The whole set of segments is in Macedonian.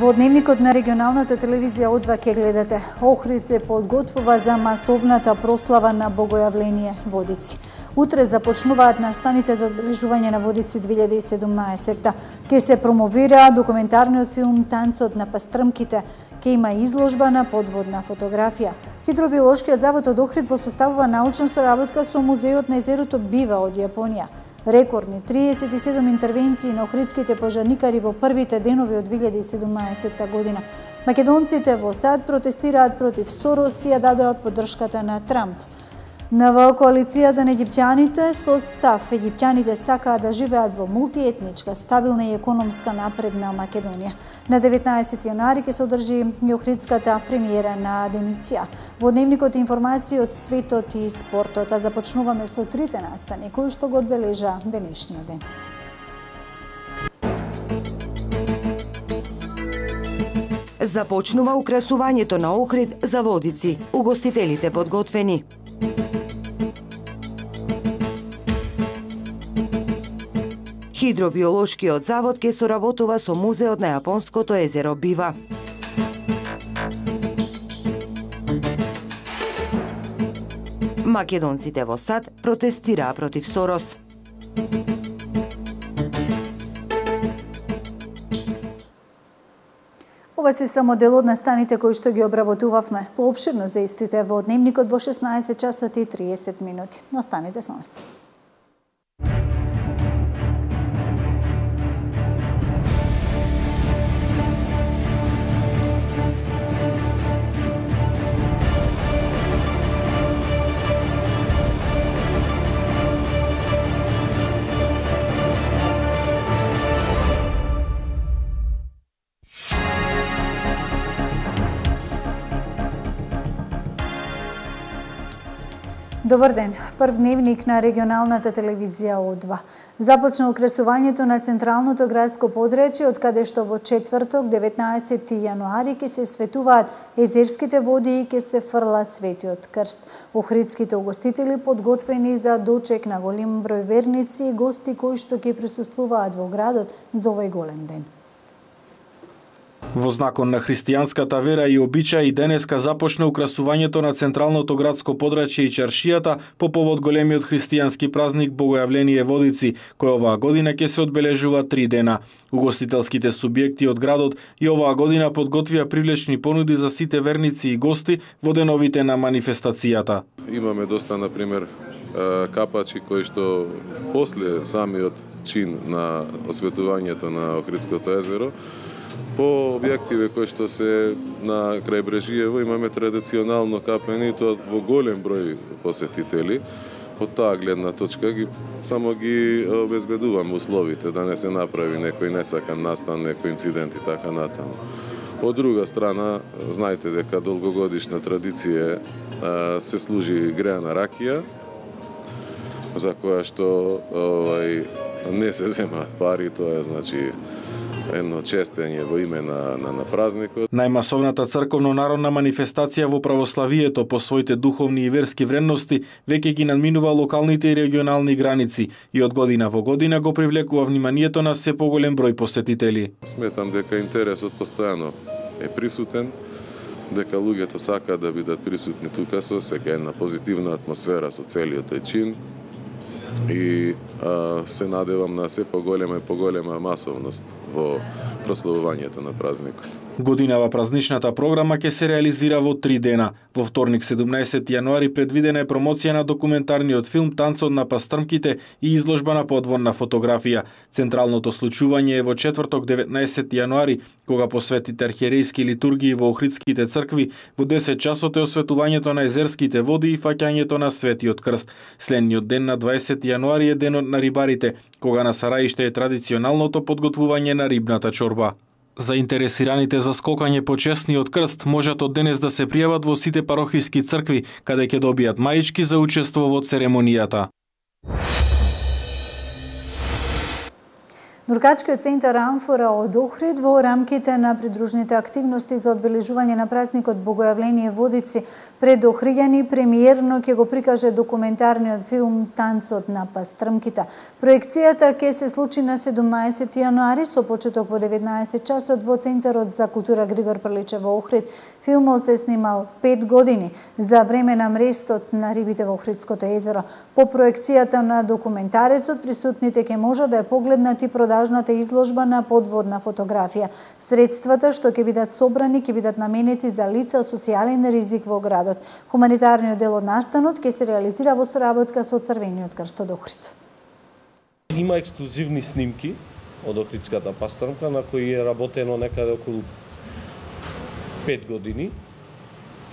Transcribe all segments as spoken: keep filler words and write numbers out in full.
Во дневникот на регионалната телевизија О два ќе гледате. Охрид се подготвува за масовната прослава на Богојавление Водици. Утре започнуваат настаните за одбележување на Водици две илјади и седумнаесетта. Ке се промовира документарниот филм Танцот на пастрмките. Ке има изложба на подводна фотографија. Хидробиолошкиот завод од Охрид воспоставува научна соработка со Музеот на езерото Бива од Јапонија. Рекордни триесет и седум интервенции на охридските пожарникари во првите денови од две илјади и седумнаесетта година. Македонците во САД протестираат против Сорос и ја дадоа поддршката на Трамп. Нова коалиција за египтјаните со став. Египтјаните сакаат да живеат во мултиетничка, стабилна и економска напредна Македонија. На деветнаесети јануари ќе се одржи и охридската премиера на Деница. Во дневникот информации од светот и спортот, а започнуваме со трите настани кои што го одбележа денешниот ден. Започнува украсувањето на Охрид за Водици. Угостителите подготвени. Хидробиолошкиот завод ќе соработува со Музеот на Јапонското езеро Бива. Македонците во САД протестираа против Сорос. Ова се само дел од настаните кои што ги обработувавме. Поопширно за истите во дневникот во шеснаесет часот и триесет минути. Останете со нас. Добар ден. Прв дневник на регионалната телевизија О два. Започна украсувањето на централното градско подречје, од каде што во четврток, деветнаесети јануари, ќе се светуваат езерските води и ќе се фрла светиот крст. Охридските угостители подготвени за дочек на голем број верници и гости кои што ќе присуствуваат во градот за овој голем ден. Во знакон на христијанската вера и обичаи денеска започна украсувањето на централното градско подрачје и чаршијата по повод големиот христијански празник Богојавление Водици, кој оваа година ќе се одбележува три дена. Угостителските субјекти од градот и оваа година подготвија привлечни понуди за сите верници и гости во деновите на манифестацијата. Имаме доста, например, капачи кои што после самиот чин на осветувањето на Охридското езеро, по објективе кои што се на крајбрежиево имаме традиционално капени, тоа во голем број посетители. Од таа гледна точка ги само ги обезбедуваме условите да не се направи некој несакан настан, некој инцидент и така натаму. Од друга страна, знаете дека долгогодишна традиција се служи греана ракија, за која што овај не се земаат пари, тоа е значи едно честење во име на, на, на празникот. Најмасовната црковно-народна манифестација во православието по своите духовни и верски вредности веќе ги надминува локалните и регионални граници и од година во година го привлекува вниманието на се поголем број посетители. Сметам дека интересот постојано е присутен, дека луѓето сакаат да бидат присутни тука со сека една позитивна атмосфера со целиот тој чин и а, се надевам на се поголема и поголема масовност во прославувањето на празникот. Годинава празничната програма ќе се реализира во три дена. Во вторник седумнаесети јануари предвидена е промоција на документарниот филм Танцот на пастрмките и изложба на подводна фотографија. Централното случување е во четврток деветнаесети јануари, кога по светите архиерејски литургии во охридските цркви во десет часот е осветувањето на езерските води и фаќањето на Светиот крст. Следниот ден на дваесети јануари е денот на рибарите, кога на Сараиште е традиционалното подготвување на рибната чорба. Заинтересираните за скокање по честниот крст можат од денес да се пријават во сите парохиски цркви, каде ќе добијат маички за учество во церемонијата. Нуркачкиот центар Амфора од Охрид во рамките на придружните активности за одбележување на празникот Богојавление Водици пред Охриѓани премиерно ќе го прикаже документарниот филм Танцот на пастрмките. Проекцијата ќе се случи на седумнаесети јануари со почеток во деветнаесет часот во Центарот за култура Григор Прличев во Охрид. Филмот се снимал пет години за време на мрестот на рибите во Охридското езеро. По проекцијата на документарецот присутните ќе можат да ја погледнат и продажната изложба на подводна фотографија. Средствата што ќе бидат собрани ќе бидат наменети за лица од социјален ризик во градот. Хуманитарниот дел од настанот ќе се реализира во соработка со Црвениот крст од Охрид. Има ексклузивни снимки од Охридската пастрмка на кои е работено некаде околу пет години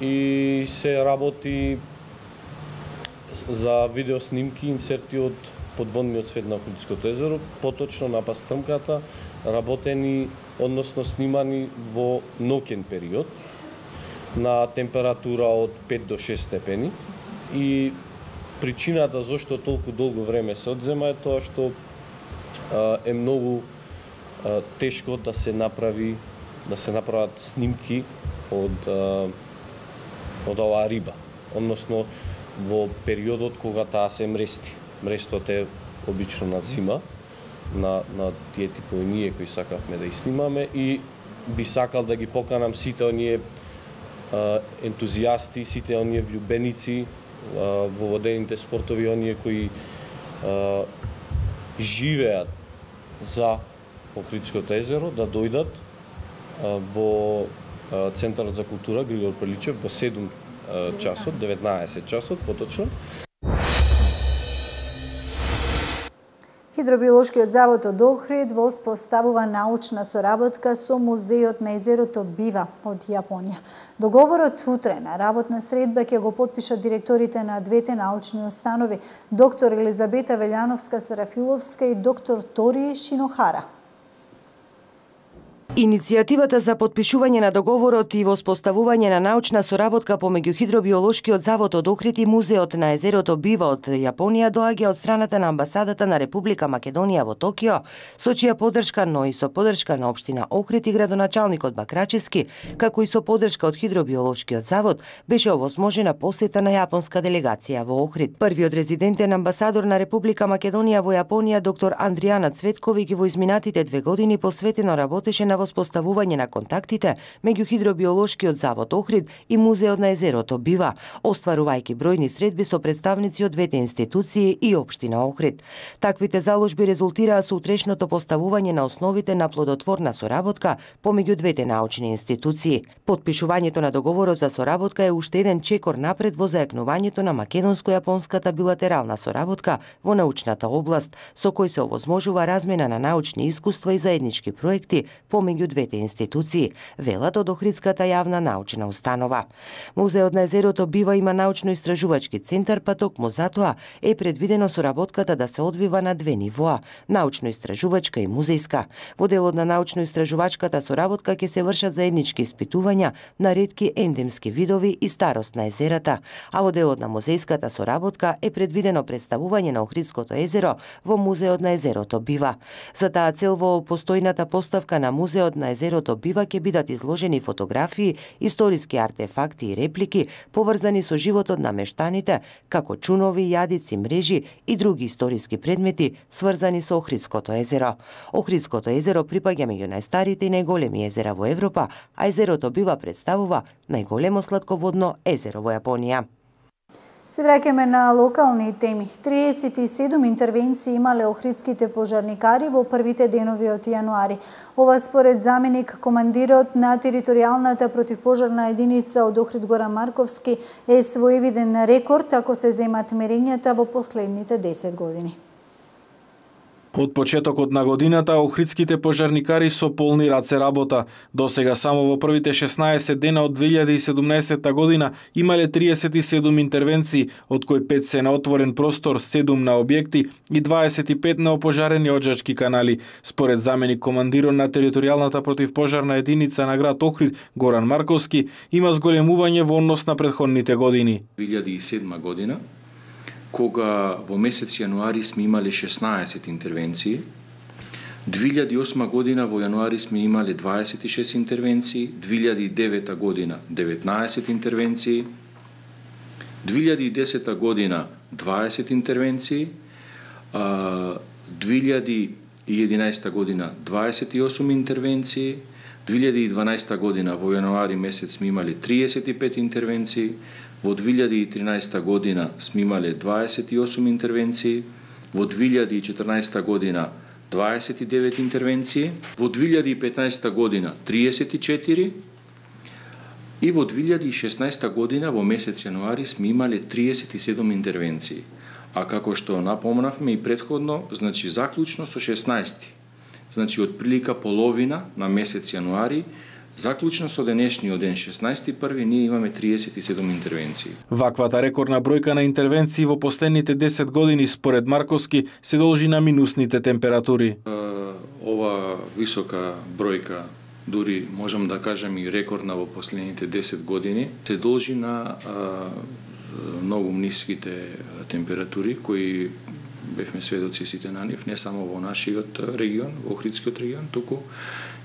и се работи за видеоснимки инсерти од подводниот свет на Охридското езеро, поточно на пастрмката, работени, односно снимани во ноќен период на температура од пет до шест степени. И причината зашто толку долго време се одзема е тоа што а, е многу а, тешко да се направи да се направат снимки од а, од оваа риба, односно во периодот кога таа се мрести. Мрестот е обично на зима, на, на тие типови ние кои сакавме да ги снимаме и би сакал да ги поканам сите оние а, ентузијасти, сите оние влюбеници а, во водените спортови, оние кои а, живеат за Охридското езеро, да дојдат а, во а, Центарот за култура Григор Прличев во седум часот, деветнаесет часот, поточно. Хидробиолошкиот завод од Охрид воспоставува научна соработка со Музејот на езерото Бива од Јапонија. Договорот утре на работна средба ќе го потпишат директорите на двете научни установи, доктор Елизабета Велјановска-Сарафиловска и доктор Тори Шинохара. Иницијативата за потпишување на договорот и воспоставување на научна соработка помеѓу Хидробиолошкиот завод од Охрид и Музеот на езерото Бива од Јапонија доаѓа од страната на амбасадата на Република Македонија во Токио, со чија поддршка, но и со поддршка на општина Охрид и градоначалникот Бакрачевски, како и со поддршка од Хидробиолошкиот завод, беше овозможена посета на јапонска делегација во Охрид. Првиот резидентен амбасадор на Република Македонија во Јапонија, доктор Андријана Цветковиќ, во изминатите две години посветено работеше на воспоставување на контактите меѓу Хидробиолошкиот завод Охрид и Музеот на езерото Бива, остварувајќи бројни средби со представници од двете институции и општина Охрид. Таквите заложби резултираа со утрешното поставување на основите на плодотворна соработка помеѓу двете научни институции. Потпишувањето на договорот за соработка е уште еден чекор напред во зајакнувањето на македонско-јапонската билатерална соработка во научната област, со кој се овозможува размена на научни искуства и заеднички проекти помеѓу двете институции, велат од Охридската јавна научна установа. Музеот на езерото Бива има научно-истражувачки центар, па токму затоа е предвидено соработката да се одвива на две нивоа – научно-истражувачка и музејска. Во делот на научно-истражувачката соработка ќе се вршат заеднички испитувања на ретки ендемски видови и старост на езерата, а во делот на музејската соработка е предвидено представување на Охридското езеро во Музеот на езерото Бива. За таа цел во постојната поставка на Музеот на езерото Бива ќе бидат изложени фотографии, историски артефакти и реплики поврзани со животот на мештаните, како чунови, јадици, мрежи и други историски предмети сврзани со Охридското езеро. Охридското езеро припаѓа меѓу најстарите и најголеми езера во Европа, а езерото Бива представува најголемо сладководно езеро во Јапонија. Се враќаме на локални теми. триесет и седум интервенции имале охридските пожарникари во првите денови од јануари. Ова според заменик командирот на територијалната противпожарна единица од Охрид Горан Марковски е своевиден рекорд ако се земат мерењата во последните десет години. Од почетокот на годината, охридските пожарникари со полни раце работа. До сега само во првите шеснаесет дена од две илјади и седумнаесетта година имале триесет и седум интервенции, од кои пет се на отворен простор, седум на објекти и дваесет и пет на опожарени оджачки канали. Според заменик командирот на територијалната противпожарна единица на град Охрид Горан Марковски, има зголемување во однос на претходните години. две илјади и седма година, кога во месец јануари сме имале шеснаесет интервенции, две илјади и осма година во јануари сме имале дваесет и шест интервенции, две илјади и девета година деветнаесет интервенции, две илјади и десета година дваесет интервенции, две илјади и единаесета година дваесет и осум интервенции, две илјади и дванаесета година во јануари месец сме имале триесет и пет интервенции, во две илјади и тринаесета година сме имале дваесет и осум интервенции, во две илјади и четрнаесета година дваесет и девет интервенции, во две илјади и петнаесета година триесет и четири и во две илјади и шеснаесета година во месец јануари сме имале триесет и седум интервенции. А како што напомнавме и претходно, значи заклучно со шеснаесети. Значи од прилика половина на месец јануари, заклучно со денешниот ден шеснаесети први ние имаме триесет и седум интервенции. Ваквата рекордна бројка на интервенции во последните десет години според Марковски се должи на минусните температури. Ова висока бројка, дури можам да кажам и рекордна во последните десет години, се должи на многу ниските температури кои бевме сведоци сите на нив, не само во нашиот регион, во Охридскиот регион, туку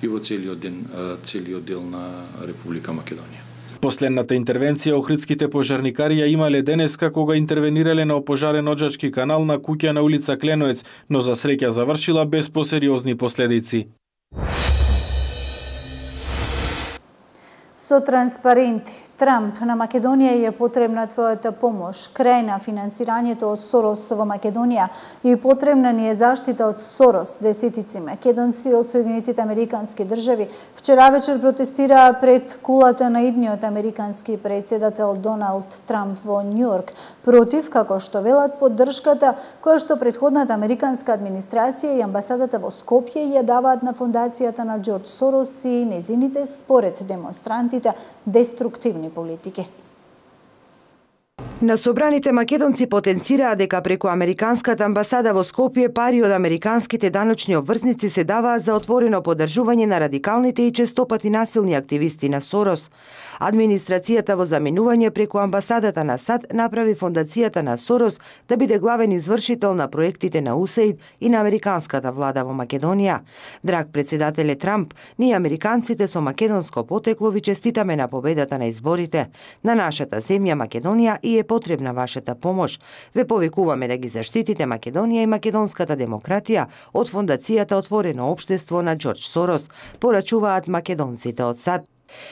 и во целиот ден, целиот дел на Република Македонија. Последната интервенција охридските пожарникари ја имале денеска кога интервенирале на опожарен оджачки канал на куќа на улица Кленоец, но за среќа завршила без посериозни последици. Со транспаренти Трамп на Македонија е потребна твојата помош, крај на финансирањето од Сорос во Македонија и потребна ни е заштита од Сорос. Десетици македонци од Соединетите Американски држави вчера вечер протестираа пред кулата на идниот американски председател Доналд Трамп во Њујорк против, како што велат, поддршката која што претходната американска администрација и амбасадата во Скопје ја даваат на фондацијата на Џорџ Сорос и незините, според демонстрантите, деструктивни политики. На собраните македонци потенцираа дека преку американската амбасада во Скопје пари од американските даночни обврзници се даваа за отворено поддржување на радикалните и честопати насилни активисти на Сорос. Администрацијата во заминување преку амбасадата на САД направи фондацијата на Сорос да биде главен извршител на проектите на ю ес ей ай ди и на американската влада во Македонија. Драг председателе Трамп, ние американците со македонско потекло ви честитаме на победата на изборите. На нашата земја Македонија и е потребна вашата помош. Ве повикуваме да ги заштитите Македонија и македонската демократија од фондацијата Отворено општество на Џорџ Сорос, порачуваат македонците од САД.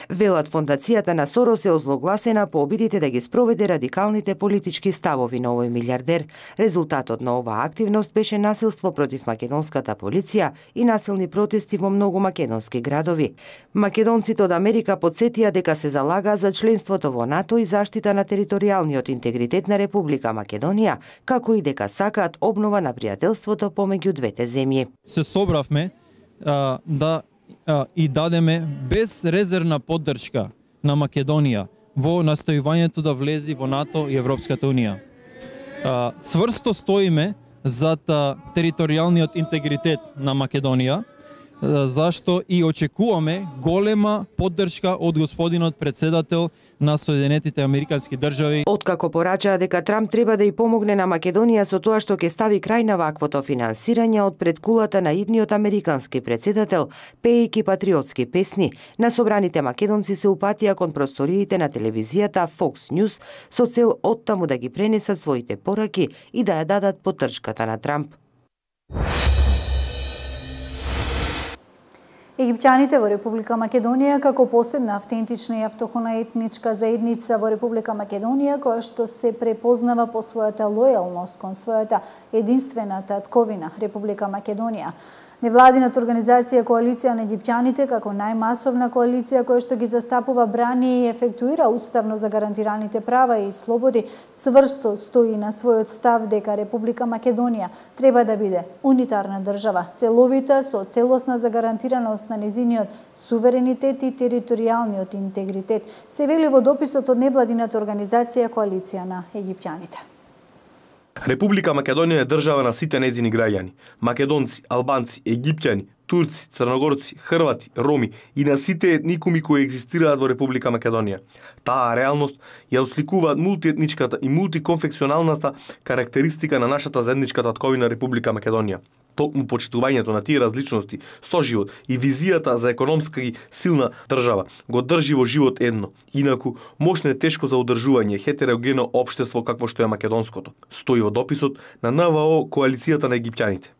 Велат фондацијата на Сорос е озлогласена по обидите да ги спроведе радикалните политички ставови на овој милиардер. Резултатот на оваа активност беше насилство против македонската полиција и насилни протести во многу македонски градови. Македонците од Америка подсетија дека се залага за членството во НАТО и заштита на територијалниот интегритет на Република Македонија, како и дека сакаат обнова на пријателството помеѓу двете земји. Се собравме а, да и дадеме безрезервна поддршка на Македонија во настојувањето да влези во НАТО и Европската Унија. Цврсто стоиме зад територијалниот интегритет на Македонија, зашто и очекуваме голема поддршка од господинот председател на Соединетите Американски држави. Откако порачаа дека Трамп треба да и помогне на Македонија со тоа што ќе стави крај на ваквото финансирање од пред кулата на идниот американски председател, пеејќи патриотски песни, на собраните македонци се упатија кон просториите на телевизијата Fox News со цел оттаму да ги пренесат своите пораки и да ја дадат поддршката на Трамп. Египтјаните во Република Македонија како посебна автентична и автохона етничка заедница во Република Македонија која што се препознава по својата лојалност кон својата единствена татковина Република Македонија. Невладината организација Коалиција на египтјаните како најмасовна коалиција која што ги застапува, брани и ефектуира уставно загарантираните права и слободи, цврсто стои на својот став дека Република Македонија треба да биде унитарна држава, целовита со целосна загарантираност на незиниот суверенитет и територијалниот интегритет, се вели во дописот од невладината организација Коалиција на египтјаните. Република Македонија е држава на сите незини граѓани. Македонци, албанци, египтјани, турци, црногорци, хрвати, роми и на сите етникуми кои екзистираат во Република Македонија. Таа реалност ја осликуваат мултиетничката и мултиконфекционалната карактеристика на нашата заедничка татковина Република Македонија. Токму почитувањето на тие различности, соживот и визијата за економска и силна држава го држи во живот едно. Инаку, мощно е тешко за одржување хетерогено општество какво што е македонското, стои во дописот на Н В О Коалицијата на египтјаните.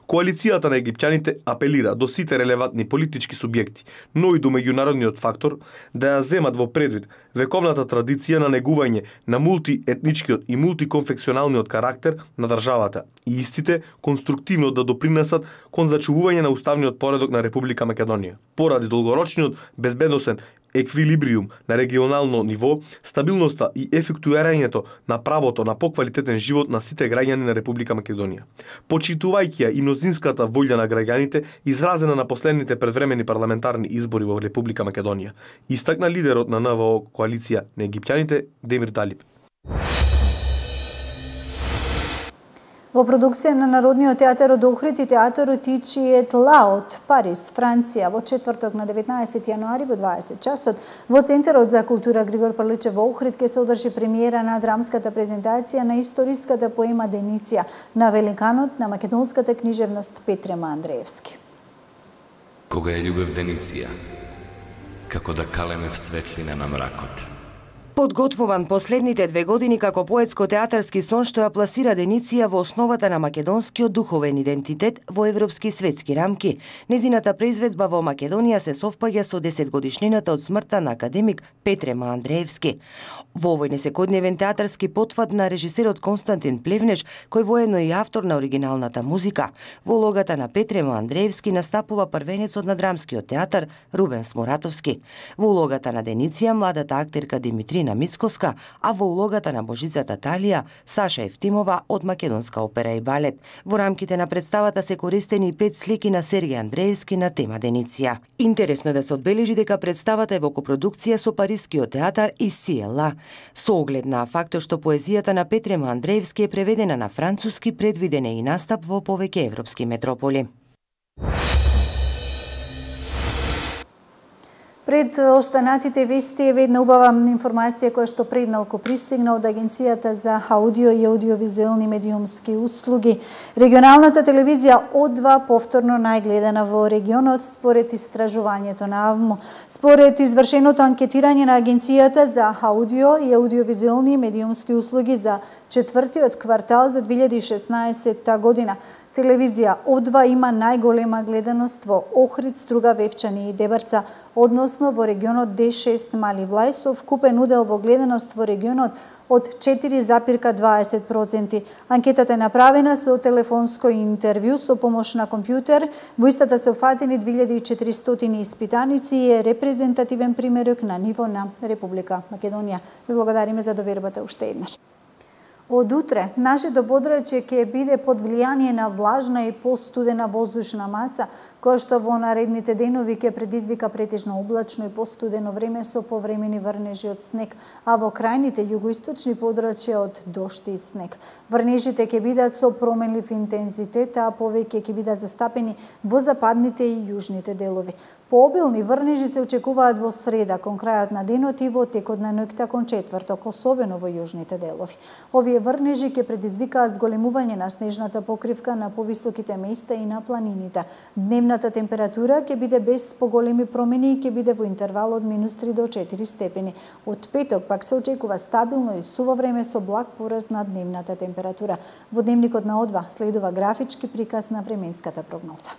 Коалицијата на египтјаните апелира до сите релевантни политички субјекти, но и до меѓународниот фактор, да ја земат во предвид вековната традиција на негување на мултиетничкиот и мултиконфекционалниот карактер на државата и истите конструктивно да допринесат кон зачувување на уставниот поредок на Република Македонија. Поради долгорочниот безбедносен еквилибриум на регионално ниво, стабилноста и ефектуирањето на правото на поквалитетен живот на сите граѓани на Република Македонија. Почитувајќи ја и мнозинската волја на граѓаните, изразена на последните предвремени парламентарни избори во Република Македонија, истакна лидерот на Н В О Коалиција на египтјаните Демир Далиб. Во продукција на Народниот театар од Охрид и театарот Ичиет Ла од Париз, Франција, во четврток на деветнаесети јануари во дваесет часот, во Центарот за култура Григор Прличев во Охрид ќе се одржи премиера на драмската презентација на историската поема Деница на великанот на македонската книжевност Петре Андреевски. Кога е љубев Деница, како да калеме в светлина на мракот. Подготвуван последните две години како поетско-театарски сон што ја пласира Деница во основата на македонскиот духовен идентитет во европски светски рамки. Незината произведба во Македонија се совпаѓа со десетгодишнината од смртта на академик Петре Андреевски. Во овој несекојдневен театарски потфат на режисерот Константин Плевнеш, кој воедно и автор на оригиналната музика, во улогата на Петре Андреевски настапува првенецот на драмскиот театар Рубен Смуратовски. Во улогата на Деница младата актерка Димитрина Мицкоска, а во улогата на Божицата Талија Саша Евтимова од Македонска опера и балет. Во рамките на представата се користени и пет слики на Сергеј Андреевски на тема Деница. Интересно е да се одбележи дека представата е во копродукција со Парискиот театар и Си Ел А. Со оглед на фактот што поезијата на Петре Андреевски е преведена на француски, предвиден е и настап во повеќе европски метрополи. Пред останатите вести е една убава информација која што пред малку пристигна од Агенцијата за аудио и аудиовизуелни медиумски услуги. Регионалната телевизија О два повторно најгледана во регионот според истражувањето на АВМО. Според извршеното анкетирање на Агенцијата за аудио и аудиовизуелни медиумски услуги за четвртиот квартал за две илјади и шеснаесетта година, телевизија О два има најголема гледаност во Охрид, Струга, Вевчани и Дебарца, односно во регионот Д шест Мали Влај, со вкупен удел во гледаност во регионот од четири зарез дваесет проценти. Анкетата е направена со телефонско интервју со помош на компјутер. Во истата се опфатени две илјади и четиристотини испитаници и е репрезентативен примерок на ниво на Република Македонија. Ви благодариме за довербата уште еднаш. Од утре, нашето подрачје ќе биде под влијание на влажна и постудена воздушна маса, која што во наредните денови ќе предизвика претежно облачно и постудено време со повремени врнежи од снег, а во крајните југоисточни подрачја од дожд и снег. Врнежите ќе бидат со променлив интензитет, а повеќе ќе бидат застапени во западните и јужните делови. Пообилни врнежи се очекуваат во среда, кон крајот на денот и во текот на ноќта кон четврток, особено во јужните делови. Овие врнежи ќе предизвикаат зголемување на снежната покривка на повисоките места и на планините. Дневната температура ќе биде без поголеми промени и ќе биде во интервал од минус три до четири степени. Од петок пак се очекува стабилно и суво време со благ пораст на дневната температура. Во дневникот на О два следува графички приказ на временската прогноза.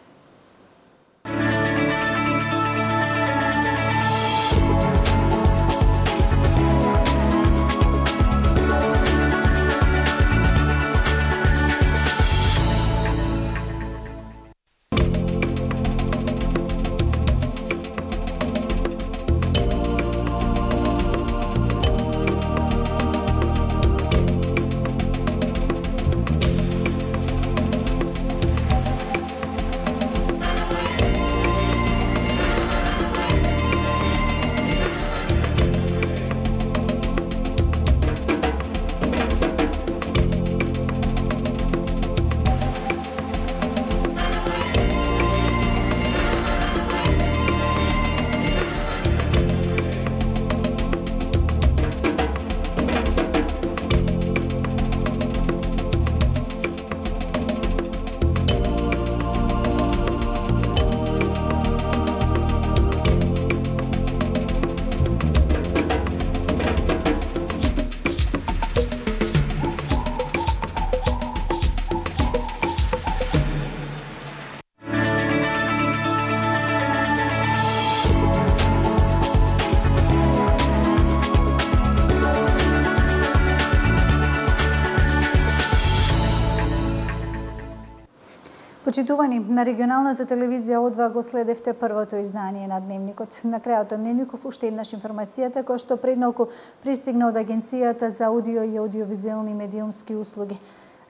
Почитувани, на регионалната телевизија О два го следевте првото издание на Дневникот. На крајот од Дневников уште еднаш информацијата која што предмалку пристигна од Агенцијата за аудио и аудиовизуелни медиумски услуги.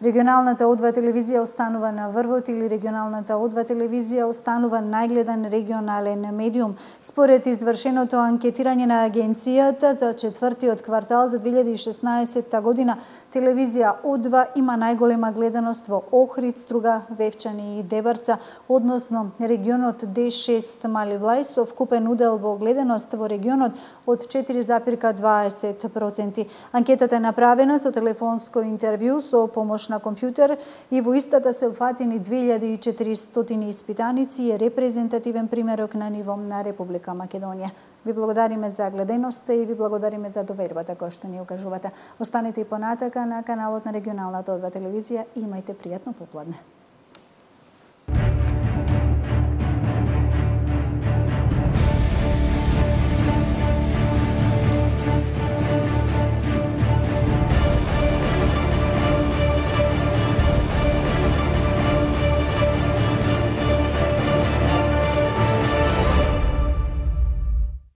Регионалната О два телевизија останува на врвот или регионалната О два телевизија останува најгледан регионален медиум. Според извршеното анкетирање на агенцијата за четвртиот квартал за две илјади и шеснаесетта година, телевизија О два има најголема гледаност во Охрид, Струга, Вевчани и Дебарца, односно регионот Д шест Мали Влај со вкупен удел во гледаност во регионот од четири зарез дваесет проценти. Анкетата е направена со телефонско интервју со помош на компјутер и во истата се опфатени две илјади и четиристотини испитаници и е репрезентативен примерок на ниво на Република Македонија. Ви благодариме за гледаноста и ви благодариме за довербата која што ни окажувате. Останете и понатака на каналот на регионалната О два телевизија и имајте пријатно попладне.